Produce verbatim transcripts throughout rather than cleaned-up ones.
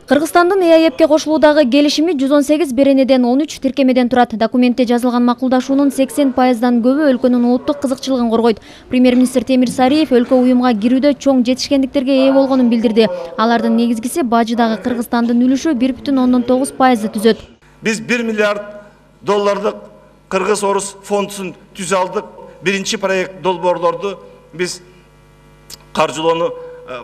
Кыргызстандын Э А Эпке кошулуудагы келишими жүз он сегиз беренеден он үч тиркемеден турат. Документте жазылган макулдашуунун сексен пайыздан көбү өлкөнүн улуттук кызыкчылыгын коргойт. Премьер-министр Темир Сариев өлкө уюмга кирүүдө чоң жетишкендиктерге ээ болгонун билдирди. Алардын негизгиси бажыдагы Кыргызстандын үлүшү бир бүтүн ондон тогуз пайызды түзөт. Биз бир миллиард доллардык Кыргыз-Орус фондун түзө алдык. Биринчи проект долбоорлорду биз каржылоону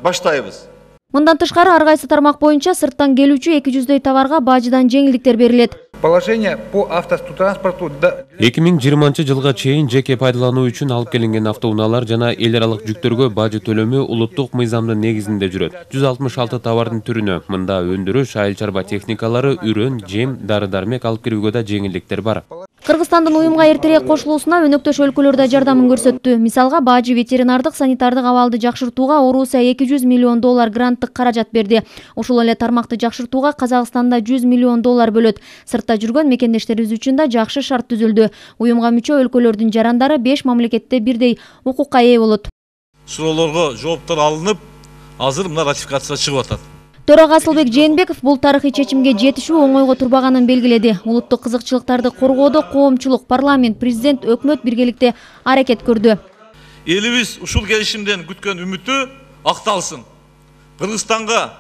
баштайбыз. Мындан тышкары ар кайсы тармак боюнча сырттан келүүчү эки жүздөй товарга бажыдан жеңилдиктер берилет. Положение по автотранспорту эки миң жыйырманчы жылга чейин жеке пайдалануу үчүн алып келинген автоунаалар жана эл аралык жүктөргө бажы төлөмү улуттук мыйзамдын негизинде жүрөт. жүз алтымыш алты товардын түрүнө мында өндүрүш, айыл чарба техникалары, үрөн, жем, дары-дармек алып кирүүгө да жеңилдиктер бар. Кыргызстандын уюмга эртерээк кошулуусуна өнөктөш өлкөлөр да жардамын көрсөттү. Мисалга, бажы ветеринардык санитардык абалды жакшыртууга Орусия эки жүз миллион доллар гранттык каражат берди. Ошол эле тармакты жакшыртууга Казакстанда жүз миллион доллар бөлөт. Сыртта жүргөн мекендештерибиз үчүн да жакшы шарт түзүлдү. Уюмга мүчө өлкөлөрдүн жарандары беш мамлекетте бирдей укукка ээ болот. Суроолорго жооптор алынып, азыр мына ратификация чыгып атат. Төрага Асылбек Жээнбеков бул тарыхый чечимге жетишүү оңойго турбаганын белгиледи. Улуттук кызыкчылыктарды коргоодо коомчулук, парламент, президент, өкмөт биргеликте аракет көрдү. Элибиз ушул келишимден күткөн үмүтү акталсын. Кыргызстанга,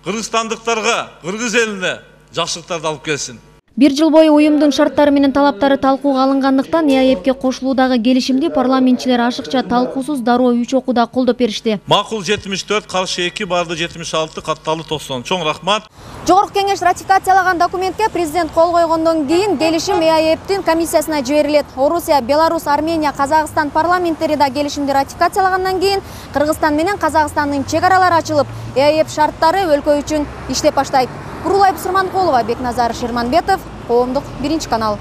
кыргызстандыктарга, кыргыз элине жакшылыктарды алып келсин. Бир жыл бою уюмдун шарттары менен талаптары талкууга алынгандыктан Э А Эпке кошулуудагы келишимди парламентчилер ашыкча талкуусуз дароо үч окууда колдоп беришти. Макул жетимиш төрт, каршы эки, барды жетимиш алты, катталуу токсон. Чоң рахмат. Жогорку кеңеш ратификациялаган документке президент кол койгондон кийин келишим Э А Эптин комиссиясына жиберилет. Орусия, Беларусь, Армения, Казакстан парламенттери да келишимди ратификациялагандан кийин Кыргызстан менен Казакстандын чек аралары ачылып, Э А Эп шарттары өлкө үчүн иштеп баштайт. Курулай Бусурманкулова, Бекназар Шерманбетов, Коомдук биринчи канал.